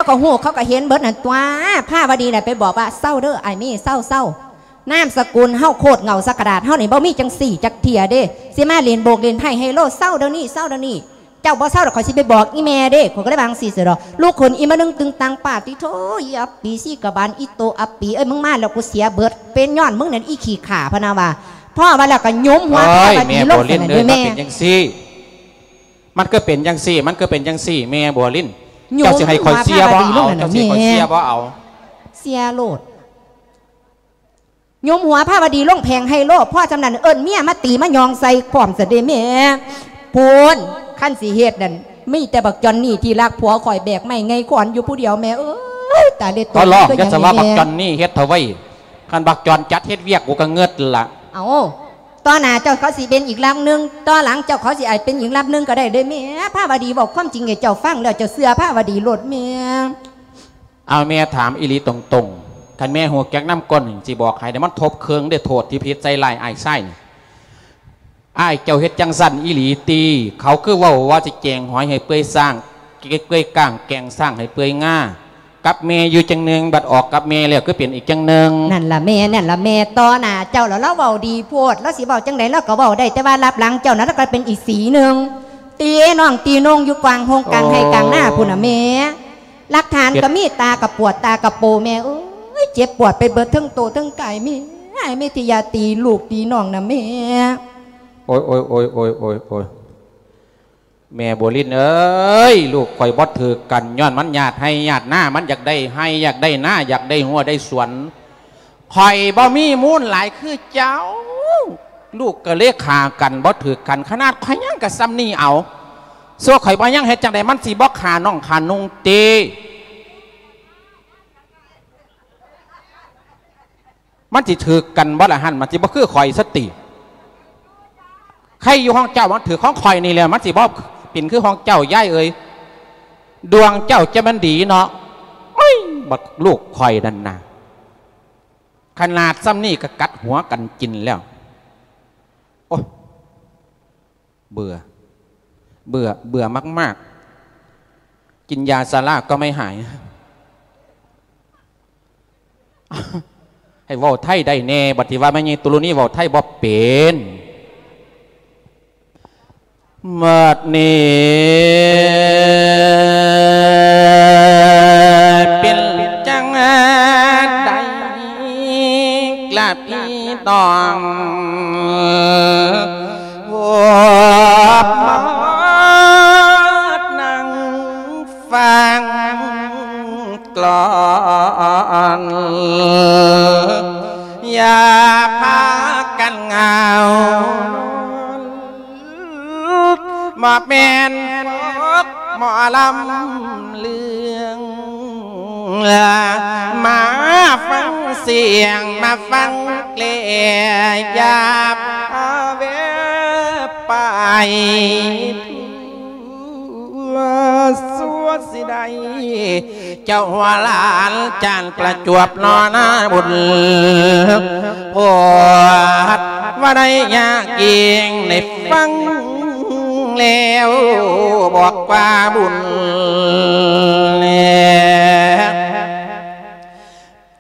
ກໍຮູ້ ເຂົາກໍເຫັນເບິດນັ້ນຕົວະ. ພາວະດີນະໄປບອກວ່າ ເຊົາເດີ ອ້າຍເມ ເຊົາ ເຊົາ. ນາມສະກຸນເຮົາໂຄດເຫງົ້າສັກກະດາດເຮົານີ້ ບໍ່ມີຈັ່ງຊີ້ຈັກເທື່ອເດ້. ຊິມາຫຼິ້ນໂບກຫຼິ້ນໄພ້ໄຮໂລ ເຊົາດຽວນີ້ ເຊົາດຽວນີ້. ເຈົ້າບໍ່ເຊົາດອກ ຂ້ອຍຊິໄປບອກອີ່ແມ່ເດ້. ຂ້ອຍກໍເລີຍວ່າຈັ່ງຊີ້ຊະດອກ. ລຸກຂຶ້ນອີ່ມະນຶງຕຶງຕັງ ປາດຕິໂທ ອີ່ອັບປີ ຊີ້ກະບານ ອີ່ໂຕອັບປີເອີຍ ມຶງມາແລ້ວກູເສຍເບິດ. ເປັນຍ້ອນມຶງນັ້ນ ອີ່ຂີ້ຂ້າ ພະນະວ່າ. ພໍວ່າແລ້ວກໍຫຍຸມຫົວພາວະດີລົງຊັ້ນນະເດ້ແມ່. ມັນເປັນຈັ່ງຊີ້ ມັນຄືເປັນຈັ່ງຊີ້ ມັນຄືເປັນຈັ່ງຊີ້ ແມ່ບົວລິນ. ເຈົ້າຊິໃຫ້ຂ້ອຍເຊຍບໍ່ເອົາ ເຈົ້າຊິໃຫ້ຂ້ອຍເຊຍບໍ່ເອົາ. ເຊຍໂລດ. ຫຍຸມຫົວພາວະດີລົງແຜງໄຮໂລ ພໍຊ່ຳນັ້ນເອີ້ນເມຍມາຕີມາຫຍອງໃສ່ພ້ອມຊະເດ້ແມ່. ພຸ້ນ ຄັນຊິເຮັດນັ້ນ ມີແຕ່ບັກຈອນນີ້ທີ່ລັກຜົວຂ້ອຍ ແບກໄມ້ໄງຄອນຢູ່ຜູ້ດຽວແມ່ເອີຍ. ຕາເລັດໂຕ ຂໍຮ້ອງ ຢ່າສະວ່າບັກຈອນນີ້ເຮັດເຖົ້າໄວຍ ຄັນບັກຈອນຈັດເຮັດວຽກ ກູກໍເງິດລະ. ເອົາ ຕໍ່ໜ້າເຈົ້າເຂົາຊິເປັນອີກລຳໜຶ່ງ ຕໍ່ຫຼັງເຈົ້າເຂົາຊິອາດເປັນອີກລຳໜຶ່ງກໍໄດ້ເດ້ແມ່. ພາວະດີເວົ້າຄວາມຈິງໃຫ້ເຈົ້າຟັງແລ້ວ ເຈົ້າເຊື່ອພາວະດີໂລດແມ່. ເອົາ ແມ່ຖາມອີ່ຫຼີຕົງໆ ຄັນແມ່ຮູ້ຈັກນຳກົ້ນນີ້ ຊິບອກໃຫ້ເດ້ ມັນທົບເຄິ່ງເດ້ ໂທດທີ່ຜິດໃສ່ຮ້າຍອ້າຍຊາຍນີ້. ອ້າຍເຈົ້າເຮັດຈັ່ງຊັ້ນອີ່ຫຼີຕິ? ເຂົາຄືເວົ້າວ່າຊິແກງຫອຍໃຫ້ເປື່ອຍຊ້າງ ເປື່ອຍກ້າງ ແກງຊ້າງໃຫ້ເປື່ອຍງາ ກັບແມ່ຢູ່ຈັ່ງໜຶ່ງ ບັດອອກກັບແມ່ແລ້ວຄືເປັນອີກຈັ່ງໜຶ່ງ. ນັ້ນລະແມ່ ນັ້ນລະແມ່ ຕໍ່ໜ້າເຈົ້າລະລາວເວົ້າດີໂພດ. ລາວຊິເວົ້າຈັ່ງໃດລາວກໍເວົ້າໄດ້ ແຕ່ວ່າລັບຫຼັງເຈົ້ານັ້ນລາວກໍເປັນອີກສີໜຶ່ງ. ຕີນ້ອງຕີນົງຢູ່ກາງໂຮງກາງໄຮ່ກາງນາພຸ້ນນະແມ່. ຫຼັກຖານກໍມີ ຕາກໍປວດ ຕາກໍໂປແມ່ເອີຍ. ເຈັບປວດໄປເບິດເທິງໂຕເທິງກາຍແມ່. ອ້າຍແມ່ທີ່ຢ່າຕີລູກຕີນ້ອງນະແມ່. ໂອຍ ໂອຍ ໂອຍ ໂອຍ ໂອຍ ໂອຍ ແມ່ບົວລິນເອີຍ ລູກຂ້ອຍບໍ່ຖືກກັນ ຍ້ອນມັນຢາກໄຮ່ຢາກນາ ມັນຢາກໄດ້ໄຮ່ຢາກໄດ້ນາ ຢາກໄດ້ຮົ້ວໄດ້ສວນ. ຂ້ອຍບໍ່ມີມູນຫຼາຍຄືເຈົ້າ ລູກກໍເລີຍຂ້າກັນບໍ່ຖືກກັນ ຂະໜາດຂ້ອຍຍັງກະສ່ຳນີ້ເອົາ. ສ່ວນຂ້ອຍບໍ່ຍັງເຮັດຈັ່ງໃດ ມັນຊິບໍ່ຂ້ານ້ອງຂ້ານຸ່ງຕິ? ມັນຊິຖືກກັນບໍ່ລະຫັ້ນ? ມັນຊິບໍ່ຄືຂ້ອຍຊະຕິ? ໃຄຢູ່ຂອງເຈົ້າ ມັນຖືກຂອງຂ້ອຍນີ້ແຫຼະ ມັນຊິບໍ່ເປັນຄືຂອງເຈົ້າ ຍາຍເອີຍ. ດວງເຈົ້າຈະແມ່ນດີເນາະ. ໂອ້ຍ ບັກລູກຂ້ອຍນັ້ນນະ ຂະໜາດສ່ຳນີ້ກໍກັດຫົວກັນກິນແລ້ວ. ໂອ້ຍ ເບື່ອ ເບື່ອ ເບື່ອມາກໆ ກິນຢາຊາລາກໍໄມ່ຫາຍ. ໃຫ້ເວົ້າໄທໄດ້ແດ່ ບັດທີ່ວ່າແມ່ໃຫຍ່ຕຸລຸນີເວົ້າໄທບໍ່ເປັນ. ບັດນີ້ເປັນຈັ່ງໃດລະພີ່ນ້ອງ ພວກມານັ່ງ ຟັງກ່ອນ ຢ່າພາກັນເຫງົາ ບໍ່ແມ່ນພວກໝໍລຳເລື່ອງ ມາຟັງສຽງ ມາຟັງເລ ຢ່າພາແວບໄປ ຊົ່ວຊິໄດ້ ເຈົ້າຫົວຫຼານຈານປະຈວບນໍນາບຸນ ໂພດວ່າໄດ້ຍາກເຢັງ ໄດ້ຟັງແລ້ວບອກວ່າບຸນແລ.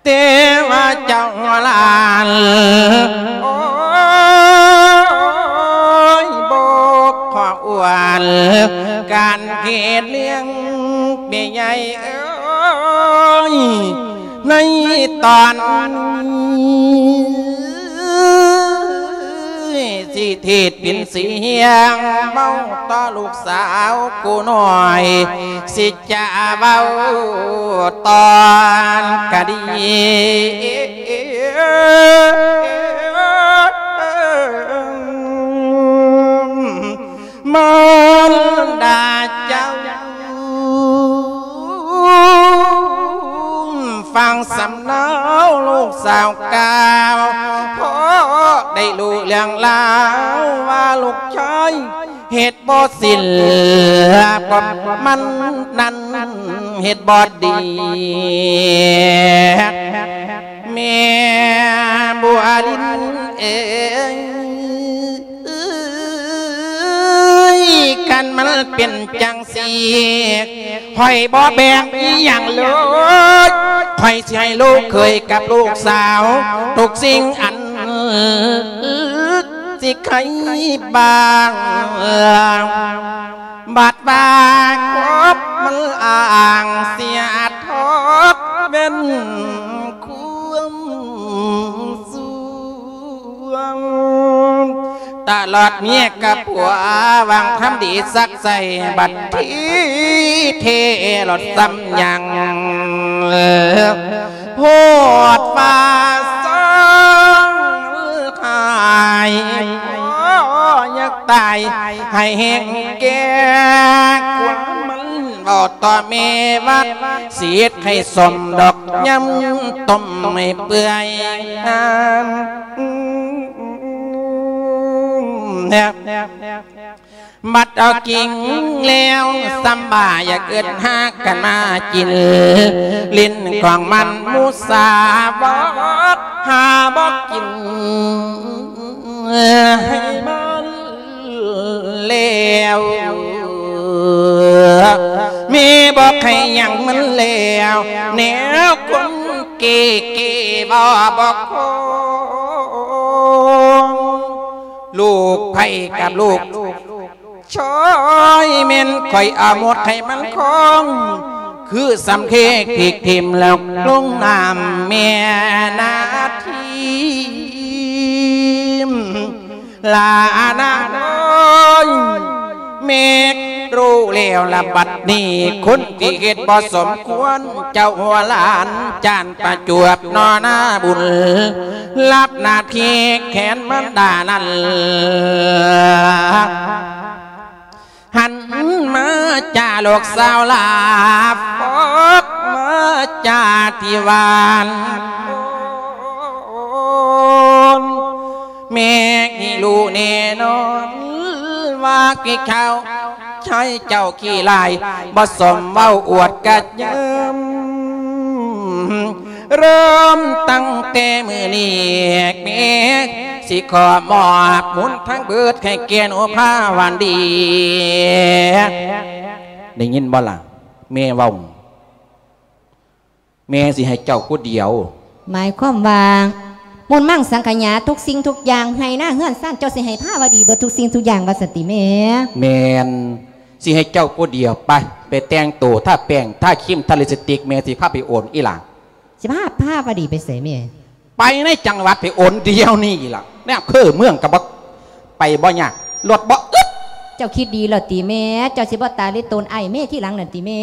ແຕ່ວ່າເຈົ້າຫຼານ ໂອ້ຍ ບໍ່ຂໍອວນ ການເຮັດເລື່ອງແມ່ໃຫຍ່ເອີຍ ໃນຕອນນີ້ ຊິເທດເປັນສຽງເວົ້າຕໍ່ລູກສາວຜູ້ນ້ອຍ ຊິຈະເວົ້າຕອນກະດີ ມານດາເຈົ້າ ຟັງສຳເນົາລູກສາວກ່າວ ພໍໄດ້ຮູ້ເລື່ອງລາວວ່າລູກຊາຍເຮັດບໍ່ສິນ ພວກມັນນັ້ນເຮັດບໍ່ດີ ແມ່ບົວລິນເອີຍ ຄັນມັນເປັນຈັ່ງຊີ້ ຂ້ອຍບໍ່ແບ່ງອີ່ຫຍັງເລີຍ ຂ້ອຍຊິໃຫ້ລູກເຂີຍກັບລູກສາວ ທຸກສິ່ງອັນຊິໃຫ້ບາງ ບັດວ່າຄົບມັນອ້າງເສຍທອດເປັນຄວາມ ສວງ ຕະຫຼອດເມຍກັບຜົວ ຫວັງທຳດີສັກໃສ່ ບັດທີເທລົດຊ້ຳຍັງ ໂພດວ່າສອງຫາຍ ພໍຢາກຕາຍໃຫ້ແຮງແກ່ ຄວາມມັນເວົ້າຕໍ່ແມ່ວ່າ ຊິເຮັດໃຫ້ສົມດອກຍຳຕົ້ມໃຫ້ເປື່ອຍງາມ ບັດເອົາກິງແລ້ວ ສຳບາຢາກເອີ້ນຫາກັນມາກິນ ຫຼິ້ນຂອງມັນໝູສາບອດ ຫາບໍ່ກິນໃຫ້ມັນ ແລ້ວ ແມ່ບອກໃຫ້ຫຍັງມັນແລ້ວ ແນວຄົນເກເກບໍ່ ບໍ່ຄົງ ລູກໃຜກັບລູກຊອຍ ແມ່ນຂ້ອຍເອົາໝົດໃຫ້ມັນຄົງ ຄືສຳເທກຖືກຖິ້ມແລ້ວລົງນ້ຳແມ່ນາທີມ ລານາເອີຍ ແມ່ຮູ້ແລ້ວລະບັດນີ້ ຄົນທີ່ເຮັດບໍ່ສົມຄວນ ເຈົ້າຫົວຫຼານຈານປະຈວບນໍນາບຸນ ຮັບໜ້າທີ່ແທນມານດານັ້ນ ຫັນມາຈາລູກສາວຫຼາ ຟອກມາຈາທີ່ຫວານ ແມ່ໃຫ້ຮູ້ແນ່ນອນວ່າກີ້ເຂົາ ໃຊ້ເຈົ້າຂີ້ຫຼາຍ ບໍ່ສົມເວົ້າອວດກະຍຳ ເລີ່ມຕັ້ງແຕ່ມື້ນີ້ ແມ່ຊິຂໍມອບບຸນທັງເບີດໃຫ້ແກ່ໜູພາວັນດີ ໄດ້ຍິນບໍ່ລະ? ແມ່ເວົ້າ ແມ່ຊິໃຫ້ເຈົ້າຜູ້ດຽວ. ໝາຍຄວາມວ່າ ມູນມັງສັງຂະຫຍາ ທຸກສິ່ງທຸກຢ່າງ ໄຮ່ນາເຮືອນຊານ ເຈົ້າຊິໃຫ້ພາວະດີເບິດທຸກສິ່ງທຸກຢ່າງວ່າຊັ້ນຕິແມ່? ແມ່ນ ຊິໃຫ້ເຈົ້າຜູ້ດຽວ. ໄປ ໄປແຕ່ງໂຕ ທາແປ້ງ ທາຄຣີມ ທາລິບສະຕິກ ແມ່ຊິພາໄປໂອນອີ່ຫຼ້າ. ຊິພາພາວະດີໄປໃສແມ່? ໄປໃນຈັງຫວັດ ໄປໂອນດຽວນີ້ລະ ໃນອຳເພີເມືອງກະບໍ່ ໄປບໍ່ຍາກ ລົດບໍ່ອຶດ. ເຈົ້າຄິດດີແລ້ວຕິແມ່? ເຈົ້າຊິບໍ່ຕາລິໂຕນອ້າຍແມ່ທີຫຼັງນັ້ນຕິແມ່?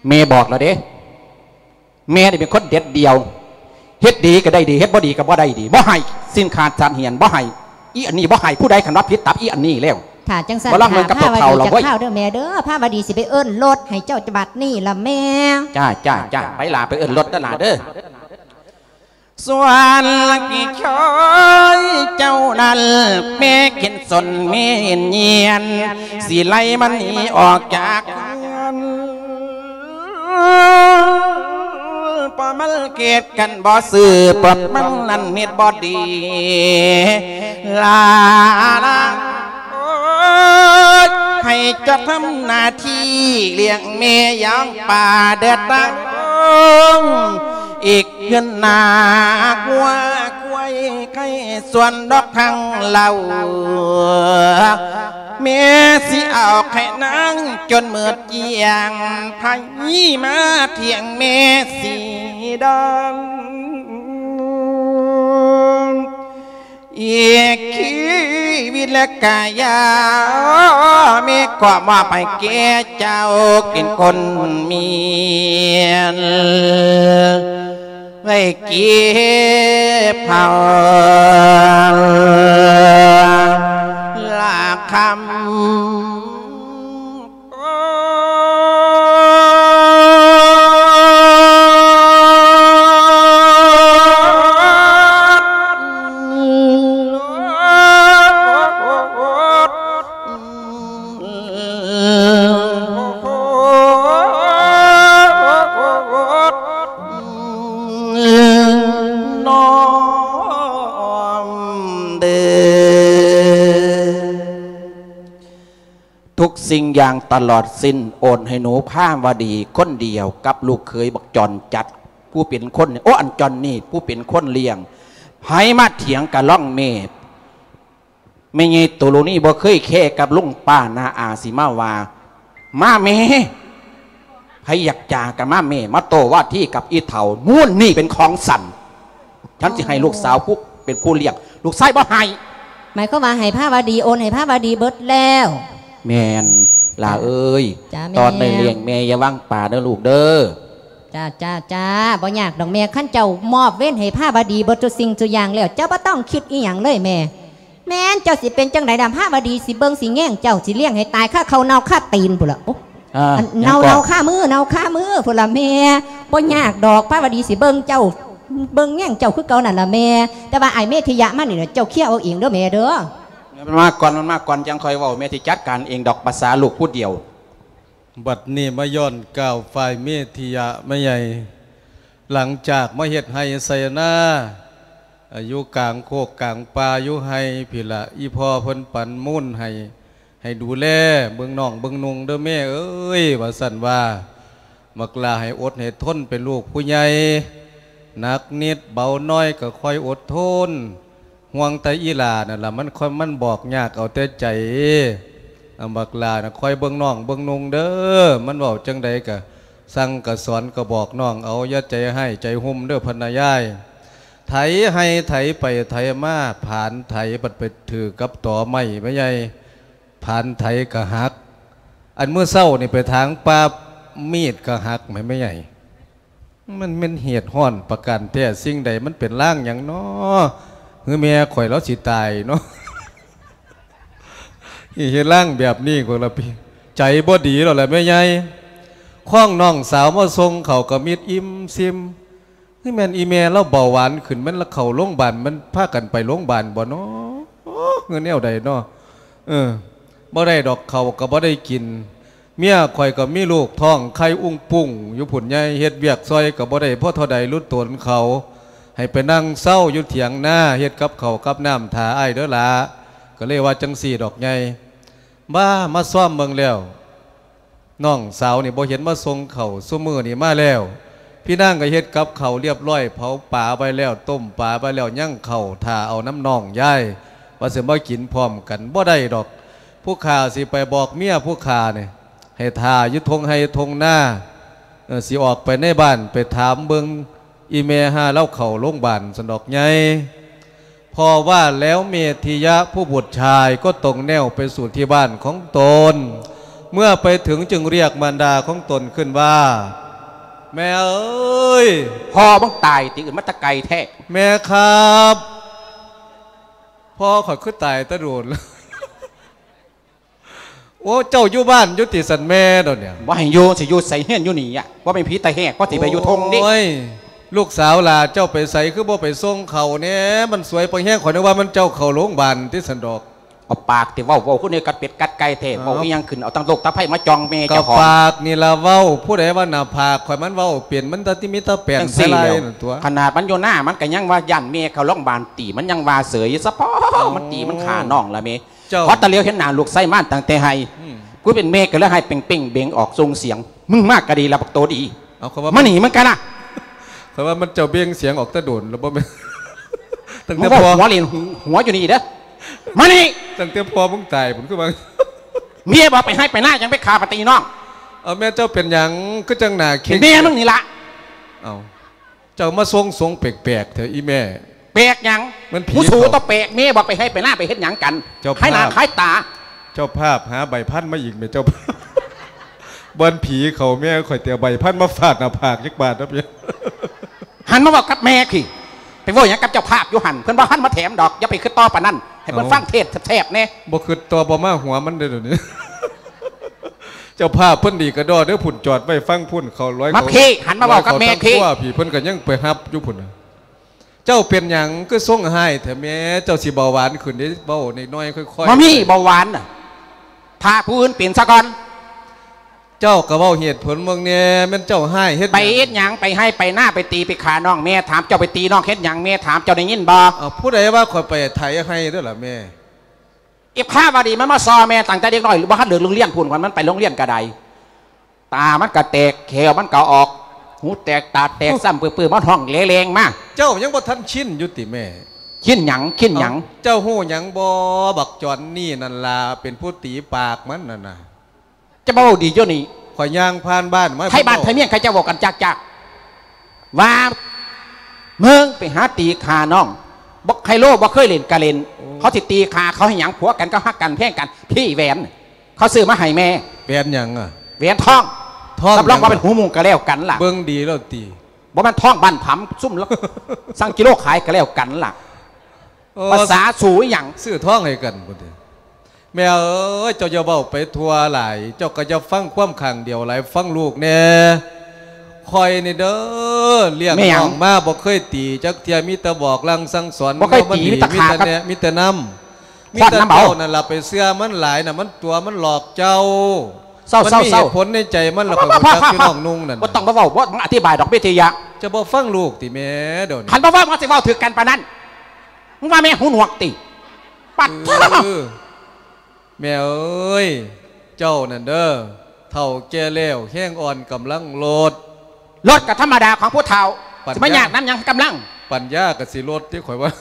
ແມ່ບອກແລ້ວເດ້ ແມ່ນີ້ເປັນຄົນເດັດດ່ຽວ ເຮັດດີກະໄດ້ດີ ເຮັດບໍ່ດີກະບໍ່ໄດ້ດີ ບໍ່ໃຫ້ ສິ້ນຂາດສັນເຫືອນ ບໍ່ໃຫ້ ອີ່ອັນນີ້ບໍ່ໃຫ້ ຜູ້ໃດຄັນວ່າຜິດຕັບອີ່ອັນນີ້ແລ້ວ. ຖ້າຈັ່ງຊັ້ນ ບໍ່ລອງເບິ່ງກັບພາວະດີຈັກຄາວເດີແມ່ເດີ ພາວະດີຊິໄປເອີ້ນລົດໃຫ້ເຈົ້າບັດນີ້ລະແມ່. ຈ້າ ຈ້າ ຈ້າ ໄປຫຼ້າ ໄປເອີ້ນລົດເດີຫຼ້າເດີ. ສ່ວນກີ້ເຂີຍເຈົ້ານັ້ນ ແມ່ເຫັນສົນແມ່ເຫັນຍຽນ ຊິໄລ່ມັນໜີອອກຈາກເຮືອນ ເພາະມັນເກດກັນບໍ່ຊື່ ເພາະມັນນັ້ນເຮັດບໍ່ດີ ລານາ ໂອ້ຍ ໃຫ້ເຈົ້າທຳໜ້າທີ່ລ້ຽງແມ່ຢ່າງປາເດີດຕາງ ອີກເຮືອນນາງົວຄວາຍໄກ່ ສ່ວນດອກທັງເຫຼົ່າ ແມ່ຊິເອົາໃຫ້ນາງຈົນໝົດກ້ຽງ ໃຜມາທ່ຽງແມ່ຊິດອງ ອີກຊີວິດແລະກາຍາ ແມ່ຂໍມອບໃຫ້ແກ່ເຈົ້າເປັນຄົນໝຽນ ໄວ້ເກັບເຜົາລາຄຳ. ສິ່ງຢ່າງຕະຫຼອດສິ້ນ ໂອນໃຫ້ໜູພາວະດີຄົນດຽວກັບລູກເຂີຍບັກຈອນຈັດ ຜູ້ເປັນຄົນ ໂອ້ ອັນຈອນນີ້ ຜູ້ເປັນຄົນລ້ຽງ ໃຫ້ມາຖຽງກະລ່ອງແມ່. ແມ່ໃຫຍ່ໂຕໂລນີ້ບໍ່ເຄີຍແຄກັບລຸງປ້ານ້າອາ ຊິມາວ່າ ມາແມ່ ໃຜຢາກຈາກະມາແມ່ ມາໂຕ້ວາທີກັບອີເຖົ້າ ມູນນີ້ເປັນຂອງສັນ ສັນຊິໃຫ້ລູກສາວຜູ້ເປັນຜູ້ລ້ຽງ ລູກຊາຍບໍ່ໃຫ້. ໝາຍຄວາມວ່າໃຫ້ພາວະດີ ໂອນໃຫ້ພາວະດີເບິດແລ້ວ. ແມ່ນ ຫຼ້າເອີຍ ຕອນໄດ້ລ້ຽງແມ່ຢ່າວາງປາເດີລູກເດີ. ຈ້າ ຈ້າ ຈ້າ ບໍ່ຍາກດອກແມ່ ຄັນເຈົ້າມອບເວນໃຫ້ພາວະດີເບິດທຸກສິ່ງທຸກຢ່າງແລ້ວ ເຈົ້າບໍ່ຕ້ອງຄິດອີ່ຫຍັງເລີຍແມ່. ແມ່ນ ເຈົ້າຊິເປັນຈັ່ງໃດດຳ ພາວະດີຊິເບິ່ງຊິແຍງເຈົ້າ ຊິລ້ຽງໃຫ້ຕາຍຄາເຂົ້າເນົ່າຄາຕີນພຸ້ນລະ. ເອີ ອັນເນົ່າ ເນົ່າຄາມື ເນົ່າຄາມືພຸ້ນລະແມ່. ບໍ່ຍາກດອກ ພາວະດີຊິເບິ່ງເຈົ້າ ເບິ່ງແຍງເຈົ້າຄືເກົ່ານັ້ນລະແມ່. ແຕ່ວ່າອ້າຍເມທິຍະມານີ້ລະ ເຈົ້າເຄຍເອົາເອງເດີແມ່ເດີ. ມັນມາກ່ອນ ມັນມາກ່ອນ ຈັ່ງຄ່ອຍເວົ້າ ແມ່ຊິຈັດການເອງດອກ ພາສາລູກຜູ້ດຽວ. ບັດນີ້ມາຍ້ອນກ່າວຝ່າຍເມທິຍະແມ່ໃຫຍ່ ຫຼັງຈາກມາເຮັດໄຮ່ໄຊນາ ຢູ່ກາງໂຄກກາງປ່າຢູ່ໄຮ່ພີ້ລະ ອີ່ພໍ່ເພິ່ນປັນມູນໃຫ້ ໃຫ້ດູແລເບິ່ງນ້ອງເບິ່ງນຸ່ງເດີແມ່ເອີຍ ວ່າຊັ້ນວ່າ. ບັກຫຼ້າໃຫ້ອົດໃຫ້ທົນ ເປັນລູກຜູ້ໃຫຍ່ ໜັກນິດເບົາໜ້ອຍກໍຄ່ອຍອົດທົນ. ຫ່ວງແຕ່ອີ່ຫຼ້ານັ້ນລະ ມັນ ມັນບອກຍາກເອົາແຕ່ໃຈ. ອາ ບັກຫຼ້ານະ ຄອຍເບິ່ງນ້ອງເບິ່ງນຸ່ງເດີ ມັນເວົ້າຈັ່ງໃດກະສັ່ງກະສອນກະບອກນ້ອງເອົາ ຢ່າໃຈຮ້າຍໃຈຫຸ່ມເດີ ພະນາຍາຍ. ໄຖໄຮ່ໄຖໄປໄຖມາ ຜານໄຖບັດໄປຖືກກັບຕໍໄມ້ແມ່ໃຫຍ່ ຜານໄຖກະຫັກ. ອັນມື້ເຊົ້ານີ້ໄປຖາງປ່າ ມີດກະຫັກແມ່ໃຫຍ່. ມັນແມ່ນເຫດຮ້ອນປະການແທ້ສິ່ງໃດ ມັນເປັນລາງຫຍັງນໍ ຄືແມ່ຂ້ອຍລາວຊິຕາຍນໍ ເຮັດລາງແບບນີ້ກໍລະ ໃຈບໍ່ດີແລ້ວລະແມ່ໃຫຍ່. ຄອງນ້ອງສາວມາສົ່ງເຂົ້າກໍມິດອີ່ມຊີມ ຄືແມ່ນອີ່ແມ່ລາວເບົາຫວານຂຶ້ນ ມັນລະເຂົ້າໂລງບານ ມັນພາກັນໄປໂລງບານບໍ່ນໍ ຄືແນວໃດນໍ. ເອີ ບໍ່ໄດ້ດອກ ເຂົ້າກໍບໍ່ໄດ້ກິນ ເມຍຂ້ອຍກໍມີລູກທ້ອງໄຂ່ອຸ້ງປຸ້ງຢູ່ພຸ້ນໃຫຍ່ ເຮັດວຽກຊ່ອຍກໍບໍ່ໄດ້ພໍເທົ່າໃດ ລຸດຕົນເຂົາ ໃຫ້ໄປນັ່ງເຊົາຢູ່ຖຽງນາ ເຮັດກັບເຂົ້າກັບນ້ຳຖ້າອ້າຍເດີຫຼ້າ. ກໍເລີຍວ່າຈັ່ງຊີ້ດອກໃຫຍ່. ບ້າ ມາຊອມເບິ່ງແລ້ວ ນ້ອງສາວນີ້ບໍ່ເຫັນມາສົ່ງເຂົ້າ ຊຸມື້ນີ້ມາແລ້ວ ພີ່ນາງກໍເຮັດກັບເຂົ້າລຽບຮ້ອຍ ເຜົາປາໄວ້ແລ້ວ ຕົ້ມປາໄວ້ແລ້ວ ຍັງເຂົ້າຖ້າເອົານຳນ້ອງຍາຍ ວ່າຊິມາກິນພ້ອມກັນ ບໍ່ໄດ້ດອກ. ຜູ້ຂ້າຊິໄປບອກເມຍຜູ້ຂ້ານີ້ ໃຫ້ຖ້າຢູ່ທົ່ງໄຮ່ທົ່ງນາ ເອີ ຊິອອກໄປໃນບ້ານ ໄປຖາມເບິ່ງອີ່ແມ່ ຫາລາວເຂົ້າໂລງບານ ຊັ້ນດອກໃຫຍ່. ເພາະວ່າແລ້ວເມທິຍະຜູ້ບຸດຊາຍກໍຕົງແນວໄປສູ່ທີ່ບ້ານຂອງຕົນ. ເມື່ອໄປເຖິງຈຶ່ງຮຽກມານດາຂອງຕົນຂຶ້ນວ່າ ແມ່ເອີຍ! ພໍ່ມຶງຕາຍຕິ ອຶດມາແຕ່ໄກແທ້. ແມ່ຄັບ! ພໍ່ຂ້ອຍຄືຕາຍແຕ່ດົນແລ້ວ. ໂອ້ ເຈົ້າຢູ່ບ້ານຢູ່ຕິ ສັນແມ່ດອກນີ້? ບໍ່ໃຫ້ຢູ່ ຊິຢູ່ໃສ ເຮືອນຢູ່ນີ້ອະ ບໍ່ແມ່ນຜີຕາແຫກ ພໍຊິໄປຢູ່ທົ່ງເດ້. ໂອ້ຍ ລູກສາວຫຼ້າເຈົ້າໄປໃສ ຄືບໍ່ໄປສົ່ງເຂົ້າແດ່? ມັນສວຍປາແຮງ ຂ້ອຍນຶກວ່າມັນເຈົ້າເຂົ້າໂລງບານຕິ ຊັ້ນດອກ. ເອົາປາກຕິເວົ້າ ເວົ້າຄືແນວກັດເປັດກັດໄກ່ແທ້. ເອີ ເວົ້າອີ່ຫຍັງຂຶ້ນ ເອົາຕັ້ງໂລກຕາໄພມາຈ່ອງແມ່ເຈົ້າຂອງ. ກໍປາກນີ້ລະເວົ້າ ຜູ້ໃດວ່າໜ້າຜາກຂ້ອຍມັນເວົ້າເປັນ ມັນແຕ່ທີ່ມີແຕ່ແປງໃສ່ໄລ່ນັ້ນຕົວະ. ຂະໜາດມັນຢູ່ນາ ມັນກໍຍັງວ່າຢ້ານແມ່ເຂົ້າໂລງບານຕິ ມັນຍັງວ່າເສີຍສະເພາະ. ມັນຕີມັນຂ້ານ້ອງລະແມ່. ເຈົ້າ ພໍຕາຫຼຽວເຫັນໜ້າລູກໄຊມາຕັ້ງແຕ່ໄຮ່ ອືມ ຜູ້ເປັນແມ່ກໍເລີຍໄຫ້ເປັ່ງໆເບັງອອກສົ່ງສຽງ ມຶງມາກະດີລະບັກໂຕດີ. ເອົາ ຂ້ອຍວ່າມັນ ມານີ້ມາກັນນະ. ຂ້ອຍວ່າມັນເຈົ້າເບັງສຽງອອກແຕ່ດົນແລ້ວບໍ່ແມ່ນ ຕັ້ງແຕ່ພໍ່ ຫົວຫຼິ້ນຫົວຢູ່ນີ້ເດີ ມານີ້. ຕັ້ງແຕ່ພໍ່ມຶງຕາຍພຸ້ນຄືວ່າ ເມຍບອກໄປໄຮ່ໄປນາ ຈັ່ງໄປຂ້າປະຕີນ້ອງ. ເອົາ ແມ່ເຈົ້າເປັນຫຍັງຄືຈັ່ງໜ້າເຄັ່ງ? ແມ່ມຶງນີ້ລະ. ເອົາ ເຈົ້າມາຊົງສົງແປກໆແທ້ອີ່ແມ່. ແປກຫຍັງ? ມັນຜີ ຜູ້ສູ ເຂົາ ຕົວແປກ ແມ່ບອກໄປໄຮ່ໄປນາໄປເຮັດຫຍັງກັນ? ເຈົ້າພາບ ໃຫ້ໜ້າຂາຍຕາ. ເຈົ້າພາບຫາໃບພັນມາອີກແມ່ເຈົ້າພາບ. ບ່ອນຜີເຂົາ ແມ່ຂ້ອຍແຕ່ໃບພັນມາຟາດໜ້າຜາກຈັກບາດນະ. ຫັນມາເວົ້າກັບແມ່ພີ້ ໄປເວົ້າຫຍັງກັບເຈົ້າພາບຢູ່ຫັ້ນ? ເພິ່ນບໍ່ທັນມາແຖມດອກ ຢ່າໄປຄິດຕໍ່ປານນັ້ນ ໃຫ້ເພິ່ນ ເອົ້າ ຟັງເທດແຊບໆແດ່. ບໍ່ຄິດຕໍ່ບໍ່ມາຫົວມັນເດ້ດຽວນີ້. ເຈົ້າພາບເພິ່ນດີກະດໍເດີພຸ້ນ ຈອດໄວ້ຟັງພຸ້ນ ເຂົາລອຍ ມາ ເຂົາ ພີ້ ຫັນມາເວົ້າກັບແມ່ພີ້ ເຂົາຕັ້ງຄົວພີ້ ເພິ່ນກະຍັງໄປຮັບຢູ່ພຸ້ນນະ. ເຈົ້າເປັນຫຍັງຄືຊົງຮ້າຍແທ້ແມ່? ເຈົ້າຊິເບົາຫວານຂຶ້ນເດ້ ເວົ້ານ້ອຍໆ ຄ່ອຍໆ. ບໍ່ມີເບົາຫວານນະ ຖ້າຜູ້ອື່ນເປັນຊະກ່ອນ. ເຈົ້າກະເວົ້າເຫດຜົນເບິ່ງແດ່ ແມ່ນເຈົ້າຮ້າຍເຮັດຫຍັງ? ໄປເຮັດຫຍັງ? ໄປໄຮ່ໄປນາ ໄປຕີໄປຂ້ານ້ອງ ແມ່ຖາມເຈົ້າ ໄປຕີນ້ອງເຮັດຫຍັງ? ແມ່ຖາມເຈົ້າ ໄດ້ຍິນບໍ່? ເອົາ ຜູ້ໃດວ່າຂ້ອຍໄປໄຖໄຮ່ເດີລະແມ່? ອີພາວະດີມັນມາຊໍ່ແມ່ຕັ້ງແຕ່ເດັກນ້ອຍ ບໍ່ທັນເລີກໂຮງຮຽນພຸ້ນ ມັນໄປໂຮງຮຽນກໍໄດ້ ຕາມັນກໍແຕກ ແຂ້ວມັນກໍອອກ ຫູແຕກ ຕາແຕກ ຊ້ຳປຶ້ມໆ ມັນຮ້ອງແລງໆມາ. ເຈົ້າຍັງບໍ່ທັນຊິນຢູ່ຕິແມ່? ຊິນຫຍັງ? ຊິນຫຍັງ? ເອົ້າ ເຈົ້າຮູ້ຫຍັງບໍ່? ບັກຈອນນີ້ນັ້ນລະ ເປັນຜູ້ຕີປາກມັນນັ້ນນະ. ຈະມາເວົ້າດີຢູ່ນີ້ ຂ້ອຍຍ່າງຜ່ານບ້ານມາ ໄທບ້ານໄທເມືອງ ເຂົາເຈົ້າເວົ້າກັນຈັກໆ ວ່າ ມຶງໄປຫາຕີຂ້ານ້ອງ ບັກໄຮໂລບໍ່ເຄີຍຫຼິ້ນກະຫຼິ້ນ ໂອ້ ເຂົາຊິຕີຂ້າເຂົາໃຫ້ຫຍັງ ຜົວກັນກໍຮັກກັນແພງກັນ ພີ້ແຫວນ ເຂົາຊື້ມາໃຫ້ແມ່. ແຫວນຫຍັງອະ? ແຫວນທອງ ທອງ ຮັບຮອງວ່າເປັນຫູມຸງກໍແລ້ວກັນລະ ເບິ່ງດີແລ້ວຕິ. ບໍ່ແມ່ນທອງບ້ານຜຳ ຊຸມລະ ສັ່ງກິໂລຂາຍກໍແລ້ວກັນລະ. ເອີ ພາສາສູອີ່ຫຍັງ? ຊື້ທອງໃຫ້ກັນພຸ້ນຕິ. ແມ່ເອີຍ ເຈົ້າຢ່າເວົ້າໄປທົ່ວຫຼາຍ ເຈົ້າກໍຢ່າຟັງຄວາມຂ້າງດຽວຫຼາຍ ຟັງລູກແດ່. ຂ້ອຍນີ້ເດີ ລ້ຽງນ້ອງມາບໍ່ເຄີຍຕີຈັກເທື່ອ ມີແຕ່ບອກສັ່ງສັ່ງສອນ ບໍ່ເຄີຍຕີ ມີແຕ່ຂາ ມີແຕ່ແນະ ມີແຕ່ນຳ ມີແຕ່ເຈົ້ານັ້ນລະໄປເຊື່ອມັນຫຼາຍນະ ມັນຕົວະ ມັນຫຼອກເຈົ້າ. ເຊົາໆໆ ມັນມີເຫດຜົນໃນໃຈມັນ ແລ້ວຂ້ອຍຮູ້ຈັກຢູ່ນ້ອງນຸ່ງນັ້ນ. ບໍ່ຕ້ອງມາເວົ້າ ບໍ່ອະທິບາຍດອກ ວິທະຍະ. ເຈົ້າບໍ່ຟັງລູກຕິແມ່ ດຽວນີ້ ຄັນບໍ່ເວົ້າມັນຊິເວົ້າຖືກກັນປານນັ້ນ ມຶງວ່າແມ່ຫູໜວກຕິ? ປັດ ເອີ ແມ່ເອີຍ ເຈົ້ານັ້ນເດີ ເຖົ້າແກ່ແລ້ວ ແຮງອ່ອນກຳລັງລົດ. ລົດກໍທຳມະດາຂອງຜູ້ເຖົ້າ ປັນຍາ ຊິມາຍາກນຳຫຍັງກຳລັງ? ປັນຍາກໍຊິລົດຕິ ຂ້ອຍວ່າ.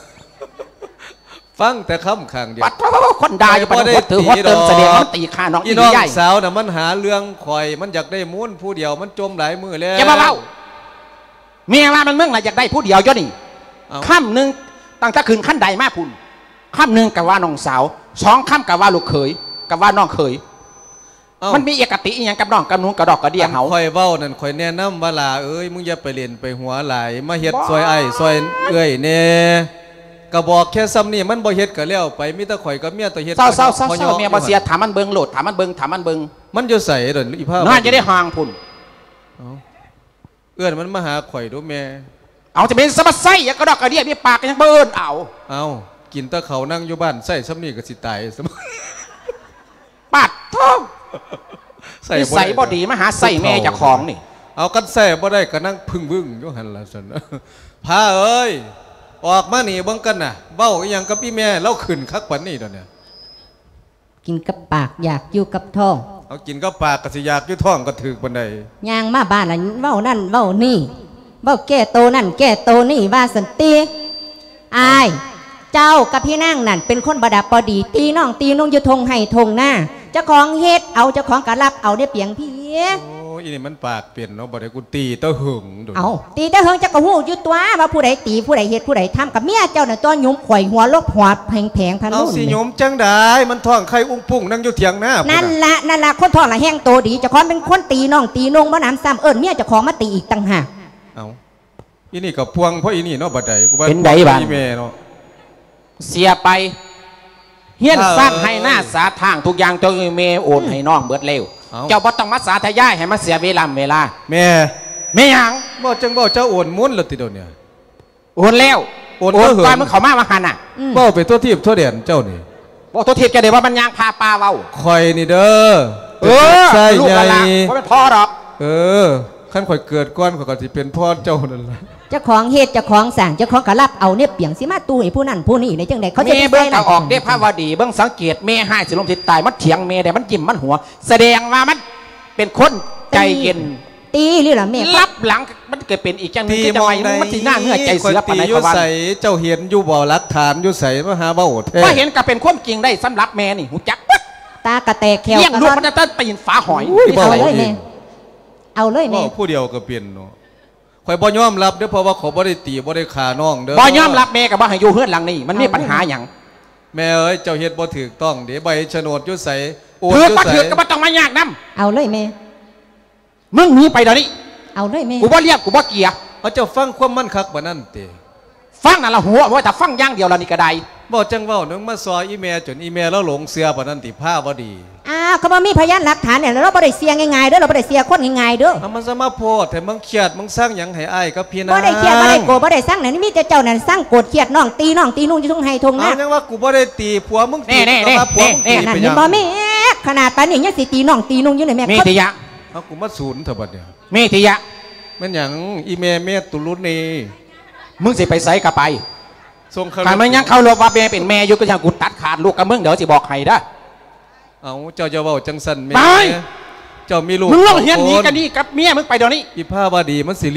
ຟັງແຕ່ຄຳຂ້າງດຽວ ປັດໂທ ຄົນດ່າຢູ່ປານຫົວເຕີຫົວເຕີງ ສະແດງວ່າມັນຕີຂ້ານ້ອງ ອີ່ນ້ອງສາວນະ ມັນຫາເລື່ອງຂ້ອຍ ມັນຢາກໄດ້ມູນຜູ້ດຽວ ມັນຈົ່ມຫຼາຍມື້ແລ້ວ. ຢ່າມາເວົ້າ ແມ່ວ່າມັນ ມຶງລະຢາກໄດ້ຜູ້ດຽວຢູ່ນີ້. ເອົ້າ ຄຳໜຶ່ງ ຕັ້ງແຕ່ຂຶ້ນຄັນໄດມາພຸ້ນ ຄຳໜຶ່ງກໍວ່ານ້ອງສາວ ສອງຄຳກໍວ່າລູກເຂີຍ ກໍວ່ານ້ອງເຂີຍ. ເອົ້າ ມັນມີອະຄະຕິອີ່ຫຍັງກັບນ້ອງກັບນຸ່ງກະດອກກະເດຍເຮົາ? ຄັນຂ້ອຍເວົ້ານັ້ນ ຂ້ອຍແນະນຳວ່າ ຫຼ້າເອີຍ ມຶງຢ່າໄປຫຼິ້ນໄປຫົວຫຼາຍ ມາເຮັດຊ່ອຍອ້າຍຊ່ອຍເອື້ອຍແດ່. ກະບອກແຄ່ສ່ຳນີ້ ມັນບໍ່ເຮັດກະແລ້ວໄປ ມີແຕ່ຂ້ອຍກັບເມຍໂຕເຮັດ. ເຊົາໆໆ ແມ່ບໍ່ເຊື່ອ ຖາມມັນເບິ່ງໂລດ ຖາມມັນເບິ່ງ ຖາມມັນເບິ່ງ. ມັນຢູ່ໃສດຽວນີ້ ອີພາວະດີ? ນອນຢູ່ໃນຫ້ອງພຸ້ນ. ເອົ້າ ເອີ້ນມັນມາຫາຂ້ອຍດູແມ່. ເອົາ ຈະເປັນສະມາໄຊຫຍັງກະດອກກະເດຍ ມີປາກກໍຍັງບໍ່ເອີ້ນເອົາ. ເອົາ ກິນແຕ່ເຂົ້າ ນັ່ງຢູ່ບ້ານ ໃຊ້ສ່ຳນີ້ກໍຊິຕາຍ. ປັດໂທ ໃຊ້ ນິໄສບໍ່ດີ ມາຫາໃຊ້ແມ່ເຈົ້າຂອງນີ້. ເອົາ ຄັນໃຊ້ບໍ່ໄດ້ກໍນັ່ງພຶ້ງວຶ້ງຢູ່ຫັ້ນລະຊັ້ນ. ພາເອີຍ ອອກມານີ້ເບິ່ງກັນນະ ເວົ້າອີ່ຫຍັງກັບອີ່ແມ່ ລາວຂຶ້ນຄັກປານນີ້ດຽວນີ້. ກິນກັບປາກ ຢາກຢູ່ກັບທ້ອງ. ເອົາ ກິນກັບປາກກໍຊິຢາກຢູ່ທ້ອງກໍຖືກປານໃດ. ຍ່າງມາບ້ານລະເວົ້ານັ້ນເວົ້ານີ້ ເວົ້າແກ້ໂຕນັ້ນແກ້ໂຕນີ້ວ່າຊັ້ນຕິ. ອ້າຍ ເຈົ້າກັບພີ່ນາງນັ້ນເປັນຄົນບໍ່ດັບບໍ່ດີ ຕີນ້ອງຕີນຸ່ງຢູ່ທົ່ງໄຮ່ທົ່ງນາ ເຈົ້າຂອງເຮັດເອົາ ເຈົ້າຂອງກໍລັບເອົາເດ້ປຽງພີ. ໂອ້ ອີ່ນີ້ມັນປາກ ເປັນເນາະ ບໍ່ໄດ້ ກູຕີແຕ່ເຫິງໂດນ. ເອົ້າ ຕີແຕ່ເຫິງ ເຈົ້າກໍຮູ້ຢູ່ຕົວະວ່າຜູ້ໃດຕີ ຜູ້ໃດເຮັດ ຜູ້ໃດທຳ ກັບເມຍເຈົ້ານັ້ນຕົວະ ຫຍຸມຂ້ອຍຫົວລົບຫົວແພງໆ ພະລຸງ. ເອົາ ຊິຫຍຸມຈັ່ງໃດ ມັນທ້ອງໄຂ່ອຸ້ງປຸ້ງ ນັ່ງຢູ່ຖຽງນາພຸ້ນນະ. ນັ້ນລະ ນັ້ນລະ ຄົນທ້ອງລະແຮງໂຕດີ ເຈົ້າຂອງເປັນຄົນຕີນ້ອງຕີນຸ່ງ ບໍ່ໜຳຊ້ຳ ເອີ້ນເມຍເຈົ້າຂອງມາຕີອີກຕ່າງຫາກ. ເອົ້າ ອີ່ນີ້ກໍພວງ ເພາະອີ່ນີ້ເນາະ ບັດໃດ ກູວ່າເປັນໃດບາດ ອີ່ແມ່ເນາະ. ເສຍໄປ ເຮືອນຊານໄຮ່ນາສາທາງທຸກຢ່າງ ເຈົ້າແມ່ໂອນໃຫ້ນ້ອງເບິດແລ້ວ. ເອົ້າ ເຈົ້າບໍ່ຕ້ອງມາສາທະຍາຍໃຫ້ມັນເສຍເວລາເວລາ. ແມ່ ແມ່ຫຍັງ? ບໍ່ ຈັ່ງເວົ້າ ເຈົ້າໂອນໝົດແລ້ວຕິດຽວນີ້? ໂອນແລ້ວ ໂອນ ໂອນຕອນ ເຮີ ມຶງເຂົ້າມາວ່າຫັ້ນນະ. ອືມ ເວົ້າໄປທົ່ວທີບທົ່ວແດນເຈົ້ານີ້. ເວົ້າທົ່ວທີບ ຈະໄດ້ວ່າມັນຍ່າງພາປ່າເວົ້າ. ຂ້ອຍນີ້ເດີ ເອີ ເປັນລູກຊາຍໃຫຍ່ ລູກຫຼານ ບໍ່ແມ່ນພໍ່ດອກ. ເອີ ຄັນຂ້ອຍເກີດກ່ອນ ຂ້ອຍກໍຊິເປັນພໍ່ເຈົ້ານັ້ນລະ. ເຈົ້າຂອງເຮັດ ເຈົ້າຂອງສ້າງ ເຈົ້າຂອງກໍລັບເອົາເນບປຽງ ຊິມາຕູ້ໃຫ້ຜູ້ນັ້ນຜູ້ນີ້ໄດ້ຈັ່ງໃດ? ເຂົາຈະໄດ້ໃສ່ຮ້າຍ ເບິ່ງກໍອອກເດ້ພາວະດີ ເບິ່ງສັງເກດແມ່ຮ້າຍ ຊິລົມຊິຕາຍ ມັນຖຽງແມ່ໄດ້ ມັນຍິ້ມ ມັນຫົວ ສະແດງວ່າມັນເປັນຄົນໃຈເຢັນ. ຕີ ຕີນີ້ລະແມ່ ລັບຫຼັງ ມັນເກີດເປັນອີກຢ່າງໜຶ່ງ ຄືຈັ່ງວ່າມັນຊິໜ້າເຫື່ອໃຈເສືອປານໃດ ຂ້ອຍວ່າ. ເຈົ້າເຫັນຢູ່ບໍ່? ຫຼັກຖານຢູ່ໃສ? ມາຫາເວົ້າແທ້. ບໍ່ເຫັນກໍເປັນຄວາມຈິງໄດ້ ສຳລັບແມ່ນີ້ ຮູ້ຈັກເບິດ. ຕາກະແຕກ ແຂ້ວ ລ້ຽງລູກມາຕັ້ງແຕ່ຕີນຝາຫອຍ. ເອົາເລີຍແມ່ ເອົາເລີຍແມ່ ເວົ້າຜູ້ດຽວກໍເປັນເນາະ. ຂ້ອຍບໍ່ຍອມຮັບເດີ້ ເພາະວ່າຂ້ອຍບໍ່ໄດ້ຕີ ບໍ່ໄດ້ຂ້ານ້ອງເດີ້. ບໍ່ຍອມຮັບ ແມ່ກໍບໍ່ໃຫ້ຢູ່ເຮືອນຫຼັງນີ້ ມັນມີ ເອົາເລີຍ ປັນຫາຫຍັງ? ແມ່ເອີຍ ເຈົ້າເຮັດບໍ່ຖືກຕ້ອງເດ້ ໃບໂສນດຢູ່ໃສ? ໂອນຢູ່ໃສ? ຖືກບໍ່ຖືກກໍບໍ່ຕ້ອງມາຍາກນຳ. ເອົາເລີຍແມ່ ມຶງໜີໄປດຽວນີ້. ເອົາເລີຍແມ່ ກູບໍ່ລ້ຽງ ກູບໍ່ເກຍ. ເອົາ ເຈົ້າຟັງຄວາມມັນຄັກປານນັ້ນຕິ? ຟັງນັ້ນລະຫົວ ບໍ່ແຕ່ຟັງຢ່າງດຽວລະນີ້ກໍໄດ້. ເວົ້າຈັ່ງເວົ້າ ນາງມາຊໍ່ອີ່ແມ່ ຈົນອີ່ແມ່ລາວຫຼົງເຊື່ອປານນັ້ນຕິ ພາວະດີ? ອ້າວ ກໍບໍ່ມີພະຍານຫຼັກຖານແນ່ ລາວບໍ່ໄດ້ເຊື່ອງ່າຍໆເດີ້ ລາວບໍ່ໄດ້ເຊື່ອຄົນງ່າຍໆເດີ້. ເອົາ ມັນຈະມາໂພດແທ້ ມຶງຄຽດ ມຶງຊັງຫຍັງໃຫ້ອ້າຍກັບພີ່ນາງ? ບໍ່ໄດ້ຄຽດ ບໍ່ໄດ້ໂກດ ບໍ່ໄດ້ຊັງນະ ມີແຕ່ເຈົ້ານັ້ນຊັງໂກດຄຽດນ້ອງ ຕີນ້ອງຕີນຸ່ງຢູ່ທົ່ງໄຮ່ທົ່ງນາ. ເອົາ ຍັງວ່າກູບໍ່ໄດ້ຕີ ຜົວມຶງຕີ ແນ່ໆ ກໍວ່າຜົວມຶງຕີ ແນ່ໆ ໄປຫຍັງ? ເຫັນບໍ່ແມ່ ຂະໜາດປານນີ້ຍັງຊິຕີນ້ອງຕີນຸ່ງຢູ່ນີ້ແມ່. ມີແຕ່ຢາ ເອົາ ກູມາສູນເທື່ອບັດນີ້. ເມຕິຍະ ແມ່ນຫຍັງ? ອີແມ່ເມຕຸລຸນນີ້ ມຶງຊິໄປໃສກໍໄປ. ຊົງເຄົາລົບ ຄັນມຶງຍັງເຄົາລົບວ່າແມ່ເປັນແມ່ຢູ່ ກໍຢ່າກູຕັດຂາດລູກກັບມຶງເດີ ຊິບອກໃຫ້ເດີ. ເອົ້າ ເຈົ້າຢ່າເວົ້າຈັ່ງຊັ້ນແມ່. ໄປ ເຈົ້າມີລູກ ມຶງລົງຮຽນໜີກັນນີ້ກັບເມຍມຶງໄປດຽວນີ້. ອີພາວະດີມັນຊິ